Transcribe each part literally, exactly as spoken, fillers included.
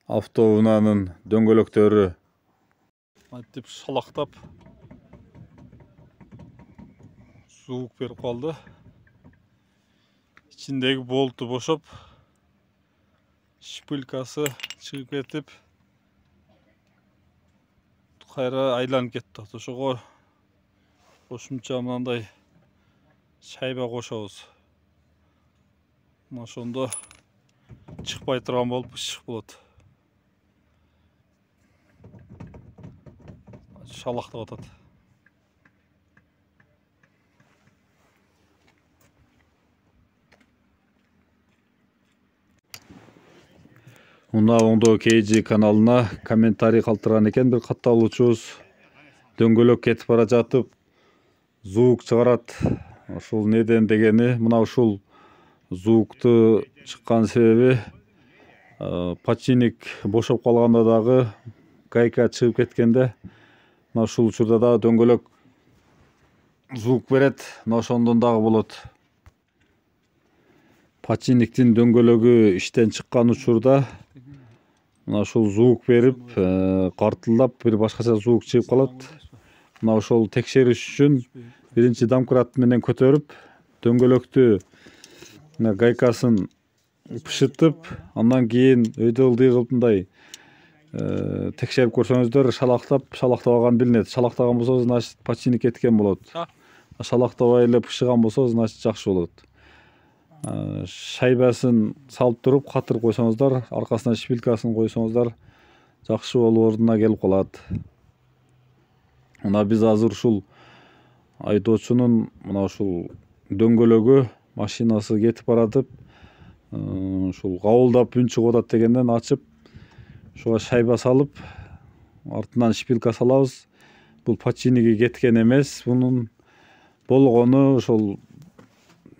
Автоунаанын дөңгөлөктөрү мынтип шалактап суук берип калды. Ичиндеги болту бошоп, шпилькасы чыгып кетип, кайра айланып кетти. Ошого кошумча мындай шайба кошобуз. Ошондо чыкпай турган болуп ышык болот. Шалактап атат. Мына оңдоо кей жи каналына комментарий калтырган экен бир катталуучубуз. Дөңгөлөк кетип бара жатып звук чыгарат. Ушул неден дегени, мына ушул звукту чыккан себеби подшипник бошоп калганда дагы гайка чыгып кеткенде, мына ушул учурда дагы дөңгөлөк звук берет. Мына ошондон дагы болот. Подшипниктин дөңгөлөгү иштен чыккан учурда мына ушул звук берип, картылдап бир башкача звук чыгып калат. Мына ошол текшериш үчүн биринчи домкрат менен көтөрүп, дөңгөлөктү гайкасын бышытып, андан кийин өйдө ылдый кылып мындай текшерип көрсөңүздөр, шалактап, шалактабаган билинет. Шалактаган болсо, значит подшипник кеткен болот. Шалактабай эле бышыган болсо, значит жакшы болот. Шайбасын салып туруп, катыр койсоңуздар, аркасына шпилькасын койсоңуздар, жакшы болуп ордуна келип калат. Мына биз азыр ушул айдоочунун мына ушул дөңгөлөгү машинасы кетип баратып, ушул кабылдап үн чыгып атат дегенден ачып, ушуга шайба салып, артынан шпилька салабыз. Бул подшипниги кеткен эмес, бунун болгону ошол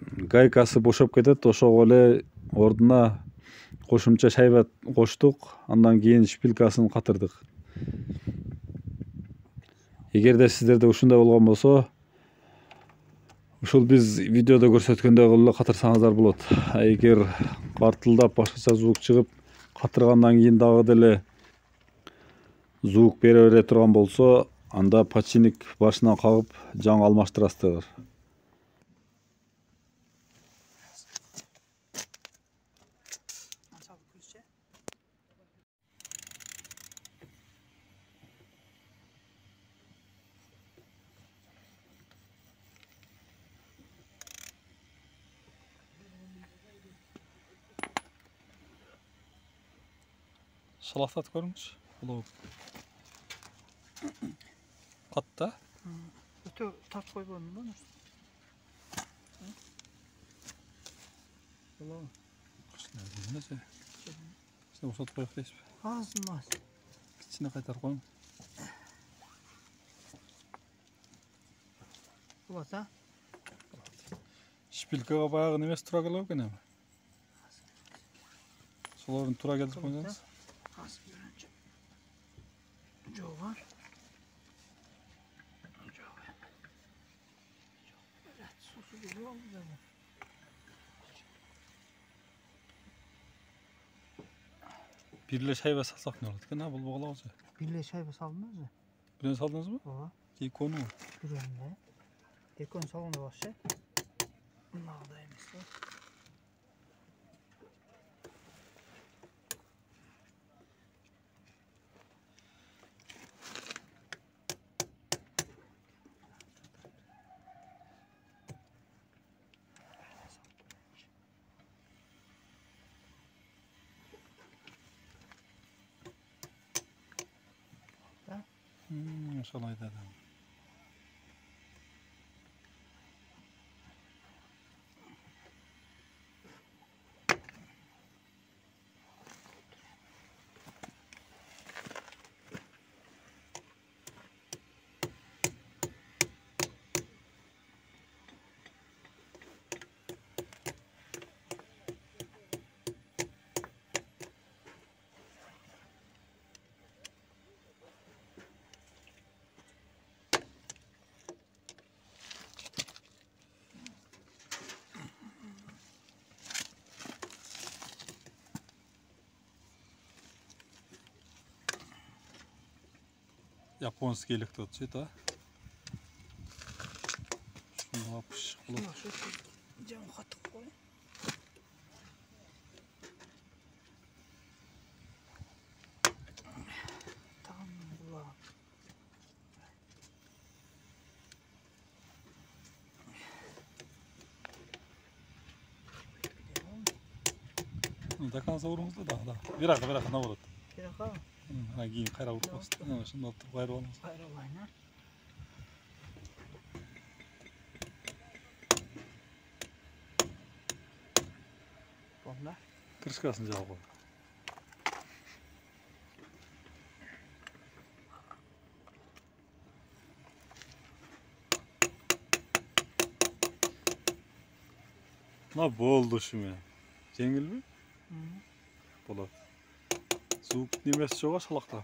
гайкасы бошоп кетет. Ошого эле ордуна кошумча шайба коштук, андан кийин шпилькасын катырдык. Эгерде сиздерде ушундай болгон болсо, ушул биз видеодо көрсөткөндөй кылып эле катырсаңыздар болот. Эгер картылдап башкача звук чыгып, катыргандан кийин дагы деле звук бере бере турган болсо, анда подшипник башынан кагып, жаңы алмаштырасыздар. Шалактат көрүңүзчү. Бул катта. Өтө тартып койбойм да. Боло. Кычына. Сен ошотуп коюп дейсизби? Азмас. Кичине кайтарып коюң. Болот, а? Шпилькага баягы немеси тура келе экен эми. Солорун тура келтирип койсоңуз. Жок бар. Бир эле шайба салсак не болот экен, а? Бул боголобузбу? Бир эле шайба салдыңызбы? Бирөөнү салдыңызбы? Ооба. Экөөнү. Бирөөнү. Экөөнү салганда бакчы. Мындай эмес да. Hmm, ошол айда. Японский электрод да. Şunu yapış. Şuna şu cam katık koy. Tamam bu. Da kansa vurumuzda da da. Bir dakika bir dakika ne olur? Bir dakika. Ha giyin kayra vurup bastı. Ha şimdi oturup gayrı olmaz. Gayrı olayına. Bomba. Krышкасын жабып кой. Мына болду шуме. Жеңилби? Hı. Болот. Звук немеси жок а шалакта.